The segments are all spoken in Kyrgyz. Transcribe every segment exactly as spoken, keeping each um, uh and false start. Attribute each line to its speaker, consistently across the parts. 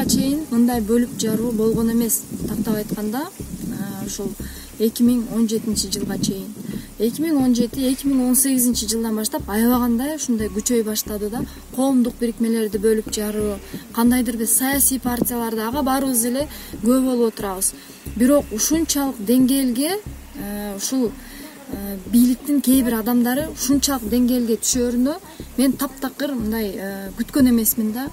Speaker 1: чейин мындай бөлүп жаруу болгон эмес. Тактап айтканда, ушул эки миң он жетинчи жылга чейин. эки миң он жети эки миң он сегизинчи жылдан баштап аябагандай ушундай күчөй баштады да, коомдук бирикмелерди бөлүп жаруу, кандайдыр бир саясий партияларды ага баарыбыз эле күбө болуп отурабыз. Бирок ушунчалык деңгээлге ушул бийликтин кээ бир адамдары ушунчалык деңгээлге түшөрүнө мен таптакыр мындай күткөн эмесмин да.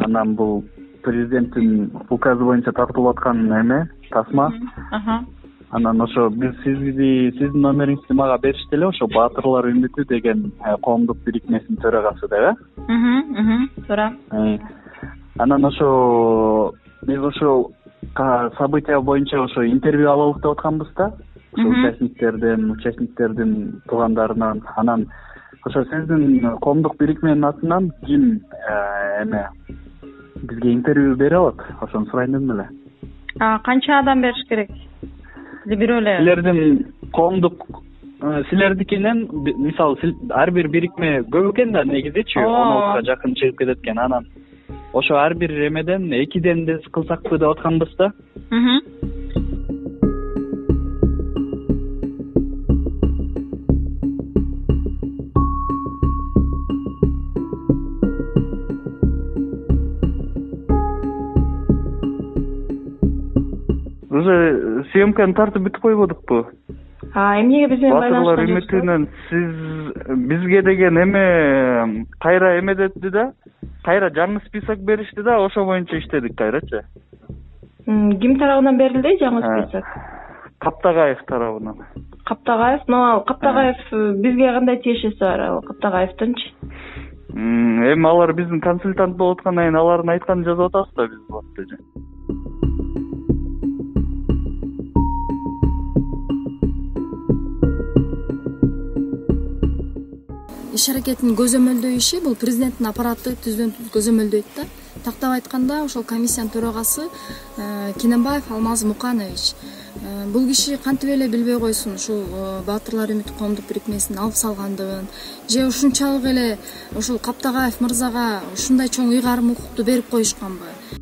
Speaker 2: Анан бул президенттин указы боюнча тартылып аткан эме, тасма. Анан ошо биз сизди, сиздин номериңизди мага беришти эле, ошо Баатырлар үмүтү деген коомдук бирикмесинин төрагасы деп,
Speaker 3: э? Туура.
Speaker 2: Анан ошо биз ошо события боюнча ошо интервью алалык деп атканбыз да. Ошо участниктерден, участниктердин туугандарынан. Анан ошо сиздин коомдук бирикменин атынан ким эме бизге интервью бере алат? Ошону сурайын дедим эле.
Speaker 3: А канча адам бериш керек? Же бирөө эле?
Speaker 2: Силердин коомдук силердикинен, мисалы, ар бир бирикме көп экен да негизичи, он алтыга жакын чыгып кетет экен. Анан ошо ар бир эмеден экиден де кылсакпы деп атканбыз да. Уже съемканы тартып бүтүп койбодукпу?
Speaker 3: А эмнеге биз менен
Speaker 2: Баатырлар үмүтүнөн сиз бизге деген эме кайра эме деди да, кайра жаңы список беришти да, ошо боюнча иштедик кайрачы.
Speaker 3: Ким тарабынан берилди жаңы список?
Speaker 2: Каптагаев тарабынан.
Speaker 3: Каптагаев, но Каптагаев бизге кандай тиешеси бар ал Каптагаевдинчи?
Speaker 2: Эми алар биздин консультант болуп аткандан кийин алардын айтканын жазып атабыз да биз болупту.
Speaker 1: Иш аракетин көзөмөлдөө иши бул президенттин аппараты түздөн түз көзөмөлдөйт да. Тактап айтканда, ошол комиссиянын төрагасы Кененбаев Алмаз Муканович. Бул киши кантип эле билбей койсун ушул Баатырлар үмүтү коомдук бирикмесин алып салгандыгын, же ушунчалык эле ушул Каптагаев мырзага ушундай чоң ыйгарым укукту берип коюшканбы?